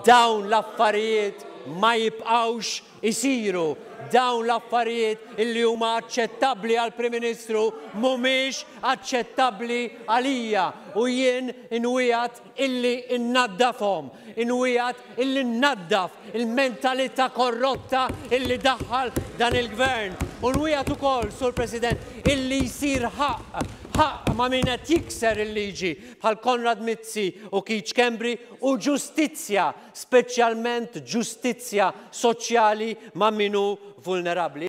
Dawn l-affarijiet ma jibqgħux isiru. Dawn l-affarijiet illi huma aċċettabbli għall-Prim Ministru mhumiex aċċettabbli għalija u jien inwiegħed illi nnaddafhom. Inwiegħed illi nnaddaf il-mentalità korrotta illi daħħal dan il-Gvern. U nwiegħed ukoll, Sur President, illi jsir ħaqq, ħaqq ma' min qed jikser il-liġi bħal Konrad Mizzi u Keith Schembri u ġustizzja, speċjalment ġustizzja soċjali ma' min hu vulnerabbli.